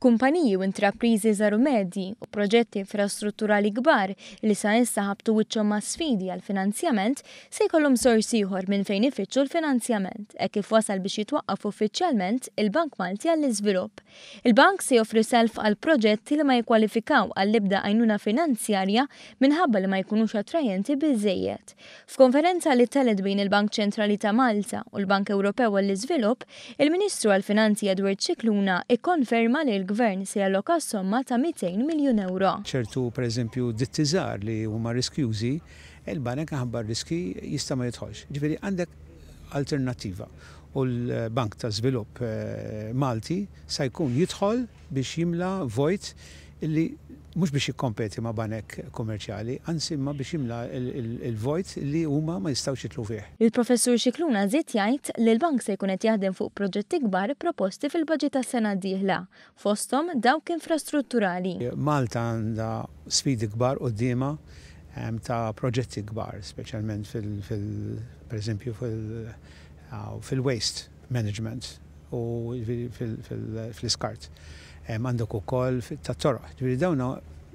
Kumpaniji u intrapriżi żgħar u medji u proġetti infrastrutturali kbar li sa issa ħabtu wiċċhom ma' sfidi għall-finanzjament se jkollhom sors ieħor minn fejn ifittxu l-finanzjament hekk kif wasal biex jitwaqqaf uffiċjalment il-Bank Malti għall-Iżvilupp. Il-bank se joffri self għal proġetti li ma jikkwalifikaw għall-ebda għajnuna finanzjarja minħabba li ma jkunux attrajenti biżżejjed. F'konferenza li ttelgħet bejn il-Bank Ċentrali ta' Malta u l-Bank Ewropew għall-Iżvilupp, il-Ministru għall-Finanzi Edward Scicluna ikkonferma li l-Gvern se jalloka s-somma ta' 200 miljun ewro. Ċertu, pereżempju, ditti żgħar li huma riskjużi, il-banek minħabba r-riski jista' ma jidħolx. Ġifieri għandek alternattiva u l-Bank ta' Żvilupp Malti sa jkun jidħol biex jimla vojt li mhux biex jikkompeti ma' banek kummerċjali, anzi imma biex jimla l-vojt li huma ma jistgħux jidħlu fih. Il-Professur Scicluna żied jgħid li l-bank se jkun qed jaħdem fuq proġetti kbar proposti fil-baġit għas-sena d-dieħla, fosthom dawk infrastrutturali. Malta għandha sfidi kbar quddiemha ta' proġetti kbar, speċjalment fil, pereżempju fil-waste management u fl-iskart. Għandek ukoll tat-toroq. Ġifieri dawn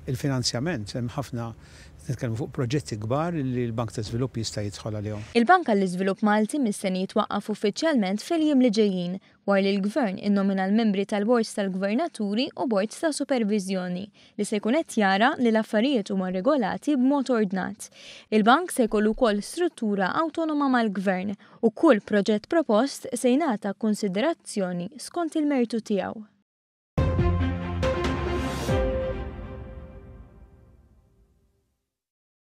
il-finanzjament hemm ħafna nitkellmu fuq proġetti kbar li l-Bank ta' Żvilupp jista' jidħol għalihom. Il-Bank għall-Iżvilupp Malti mistenni jitwaqqaf uffiċjalment fil-jiem li ġejjin wara li l-Gvern innomina l-membri tal-Bord tal-Gvernaturi u Bord ta' Superviżjoni li se jkun qed jara li l-affarijiet huma regolati b'mod ordnat. Il-bank se jkollu wkoll struttura awtonoma mal-Gvern u kull proġett propost se jingħata kunsiderazzjoni skont il-mertu tiegħu.